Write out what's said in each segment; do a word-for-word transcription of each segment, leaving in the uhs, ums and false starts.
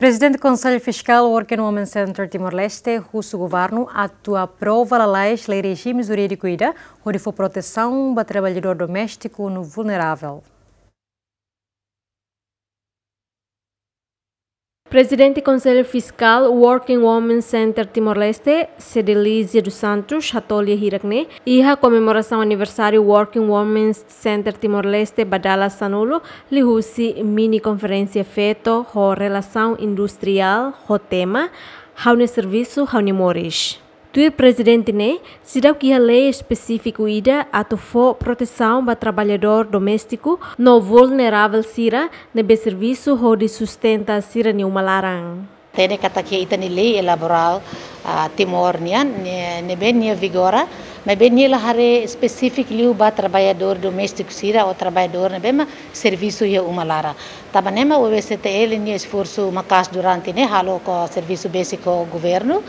Prezidente Konsellu Fiskál Work and Women Center Timor-Leste husu governu atu aprova lalais lei rejime jurídiku ida hodi fó protesaun ba traballadór doméstiku no vulneravel. Prezidente Konsellu Fiskál Work and Women Center Timor-Leste, Cedelizia dos Santos, hato'o lia hirak ne'e iha komemorasaun aniversáriu Work and Women Center Timor-Leste ba dala sanulu, liuhusi mini konferénsia feto ho relasaun industriál ho tema Ha'u-nia servisu, ha'u-nia moris. Tuir prezidente ne'e, seidauk iha lei espesífiku ida atu fó protesaun ba traballadór doméstiku no vulneravel sira ne'ebé servisu hodi sustenta sira-nia uma laran. Hatene katak iha ita-nia lei elaboradu, ah, Timor nian, ne-, ne'ebé nia vigora, maibé nia la haree espesífiku liu ba traballadór doméstiku sira ou traballadór ne'ebé mak servisu iha uma laran. Tanba ne'e mak W C T L nia esforsu maka'as durante ne'e halo ho servisu besik ho governu,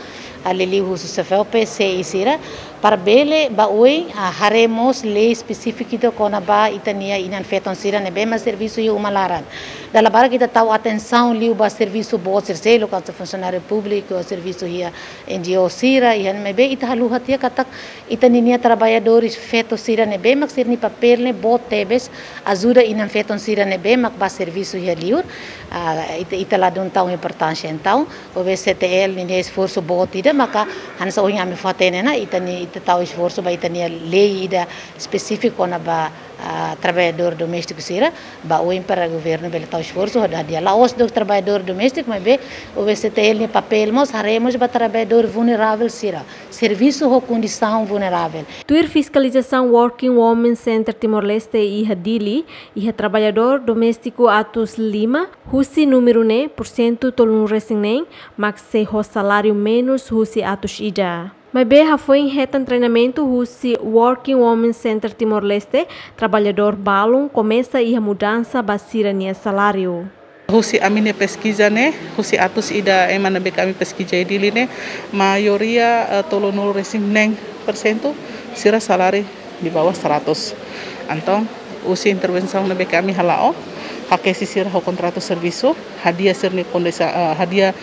ah, liuliu husi SEFELPE, C I sira, para bele ba oin, ah, haree mós lei espesífiku ida kona-ba ita-nia inan-feton sira ne'ebé mak servisu iha uma laran. Dala barak ita tau atensaun liu ba servisu boot sira seluk, hanesan funsionáriu públiku, servisu iha N G O sira, iha ne'ebé ita haluha tiha katak ita-nia traballadores feto sira ne'ebé mak sira-nia papél ne'e boot tebes, ajuda inan-feton sira ne'ebé mak ba servisu iha liur, ah, ita, ita ladún tau importánsia. Entaun, W C T L nia esforsu boot ida maka hanesan ohin ami fó-hatene ona, ita-nia, ita tau esforsu ba ita-nia lei ida espesífiku kona-ba, ah, traballadór doméstiku sira, ba oin para governu bele tau esforsu, hodi hadi'a la'ós de'it traballadór doméstiku, maibé W C T L nia papél mós, haree mós ba traballadór vulneravel sira, servisu ho kondisaun vulneravel. Tuir fiskalizasaun Work and Women Center Timor-Leste iha Dili, iha traballadór doméstiku atus lima, husi númeru ne'e, pursentu tolunulu-resin-neen mak sei ho saláriu menus husi atus ida. Maibé hafoin hetan treinamentu husi Work and Women Center Timor-Leste, traballadór balun komesa iha mudansa ba sira-nia saláriu. Husi ami-nia peskiza ne'e, husi atus ida ema ne'ebé ke ami peskiza iha Dili ne'e, maioria, eh, tolunulu-resin-neen persentu, sira saláriu di bawah seratus. Entaun, husi intervensaun ne'ebé ke ami hala'o, hakeisi sira ho kontratu servisu, hadi'a sira-nia kondisi, eh, hadi'a,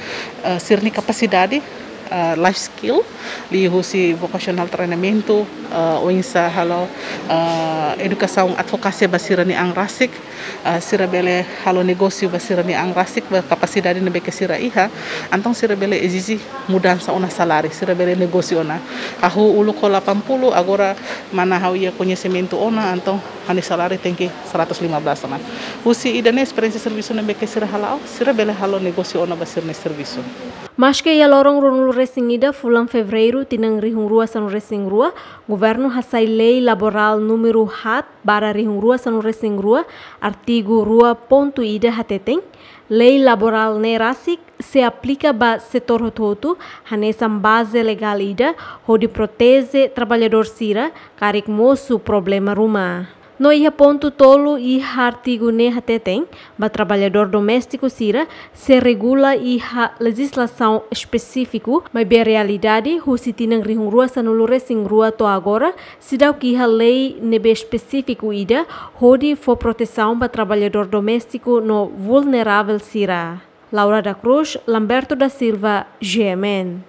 eh, sira-nia kapasidade, eh, life skill, liuhusi vocational treinamentu, eh, oinsá halo, eh, edukasaun advokasia ba sira-nia an rasik, eh, sira bele halo negósiu ba sira-nia an rasik, ba kapasidade ne'ebé ke sira iha, entaun sira bele ezije mudansa ona saláriu, sira bele negósiu ona. Hahú uluk ho delapan puluh, agora mana ha'u iha koñesimentu ona, entaun ha'u-nia saláriu tenke seratus lima belas ona. Husi ida-ne'e esperiénsia servisu ne'ebé ke sira hala'o, sira bele halo negósiu ona ba sira-nia servisu. Maske iha loron ruanulu-resin-ida fulan Fevereiru tinan rihun rua sanulu-resin-rua, governu hasai lei laborál númeru haat barra rihun rua sanulu-resin-rua, artigu rua pontu ida hateten, lei laborál ne'e rasik sei aplika ba setór hotu-hotu, hanesan baze legál ida hodi proteje traballadór sira karik mosu problema ruma. No iha pontu tolu iha artigu ne'e hateten, ba traballadór doméstiku sira sei regula iha lejizlasaun espesífiku, maibé realidade husi tinan rihun rua sanulu-resin-rua to'o agora, seidauk iha lei ne'ebé espesífiku ida hodi fó protesaun ba traballadór doméstiku no vulneravel sira. Laura da Cruz, Lamberto da Silva, G M N.